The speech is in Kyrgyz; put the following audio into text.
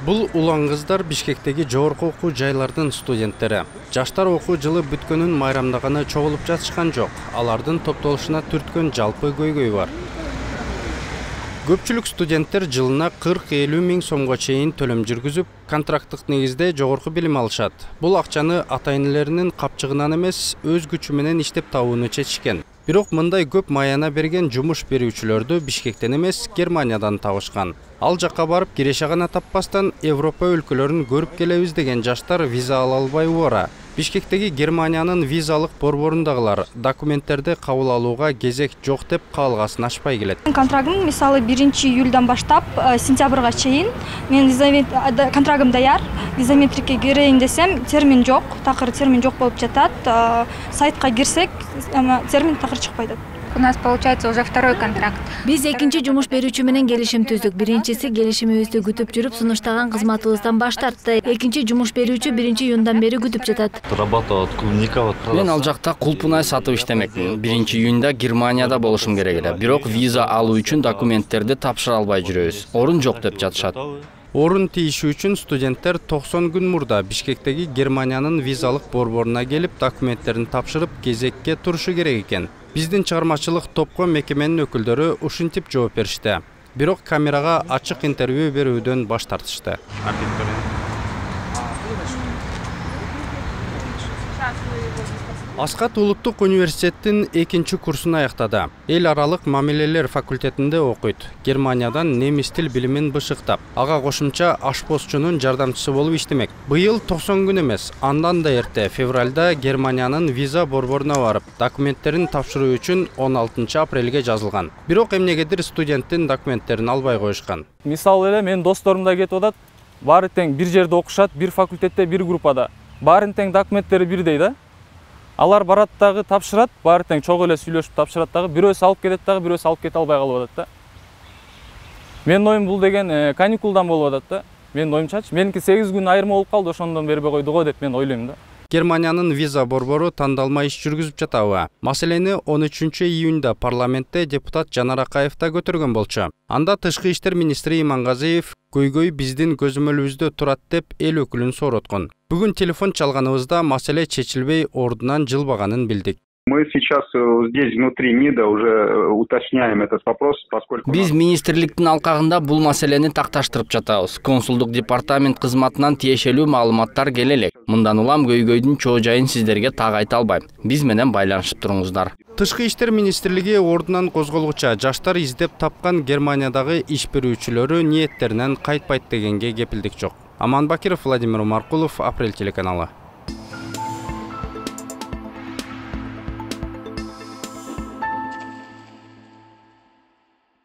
Бул улан кыздар Бишкектеги жогорку окуу жайлардын студенттери. Жаштар окуу жылы бүткөнүн майрамдаганы чогулуп жатышкан жок. Алардын топтолушуна түрткөн жалпы көйгөй бар. Көпчүлүк студенттер жылына 40-50 миң сомго чейин төлөм жүргүзүп, контракттык негизде жогорку билим алышат. Бул акчаны ата-энелеринин капчыгынан эмес, өз күчү менен иштеп табууну чечишкен. Бирок мындай көп маяна берген жумуш берүүчүлөрдү Бишкектен эмес, Германиядан табышкан. Ал жакка барып киреше гана таппастан Европа өлкөлөрүн көрүп келебиз деген жаштар виза ала албай убара. Бишкектеги Германиянын визалык борборундагылар документтерди кабыл алууга кезек жок деп каалгасын ачпай келет. Контрагым мисалы 1-июлдан баштап сентябрга чейин мен контрагым даяр. Визаметрикке кирейин десем, термин жок, такыр термин жок болуп жатат. Сайтка кирсек, термин такыр чыкпай атат. У нас получается уже второй контракт. Биз экинчи жумуш берүүчү менен келишим түздүк. Биринчиси келишимибизди күтүп жүрүп, сунуштаган кызматыбыздан баш тартты. Экинчи жумуш берүүчү 1-июндан бери күтүп жатат. Мен ал жакта кулпунай сатып иштемекмин. 1-июнда Германияда болушум керек эле. Бирок виза алуу үчүн документтерди тапшыра албай жүрөбүз. Орун жок деп жатышат. Орун тийиши үчүн студенттер 90 күн мурда Бишкектеги Германиянын визалык борборуна келип, документтерин тапшырып, кезекке турушу керек экен. Биздин чыгармачылык топко мекеменин өкүлдөрү ушинтип жооп беришти. Бирок камерага ачык интервью берүүдөн баш тартышты. Аскат Улуттук университеттин 2-чи курсун аяктады. Эл аралык мамилелер факультетинде окуйт. Германиядан немис тил билимин бышыктап, ага кошумча ашпозчунун жардамчысы болуп иштемек. Быйыл 90 күн эмес, андан да эрте февралда Германиянын виза борборуна барып, документтерин тапшыруу үчүн 16 апрелге жазылган. Бирок эмнегедир студенттин документтерин албай коюшкан. Мисалы эле менин досторум да кетип атат. Баары тең бир жерде окушат, бир факультетте, бир группада. Баарын тең документтери бирдей да. Алар барат дагы тапшырат, баары тең чогуу эле сүйлөшүп тапшырат дагы, бирөөсү алып кетет дагы, бирөөсү алып кете албай калып атат да. Менин оюм бул деген каникулдан болуп атат да. Менин оюмчачы, меники 8 күн айырма болуп калды, ошондон бербей койду го деп мен ойлойм да. Германиянын виза борбору тандалма иш жүргүзүп жатабы. Маселени 13 июнда парламентте депутат Жанар Акаев да көтөргөн болчу. Анда тышкы иштер министри Имангазиев көйгөй биздин көзөмөлүбүздө турат деп эл өкүлүн сороткон. Бүгүн телефон чалганыбызда маселе чечилбей ордунан жылбаганын билдик. Мы сейчас здесь внутри МИДа уже уточняем этот вопрос, поскольку... Биз министрликтин алкагында бул маселени такташтырып жатабыз. Консулдук департамент кызматынан тиешелүү маалыматтар келе элек. Мындан улам көйгөйдүн чоо жайын сиздерге так айта албайм. Биз менен байланышып туруңуздар. Тышкы иштер министрлиги ордунан козголгуча жаштар издеп тапкан Германиядагы иш берүүчүлөрү ниеттеринен кайтпайт дегенге кепилдик жок. Аман Бакиров, Владимир Маркулов, Апрель телеканалы.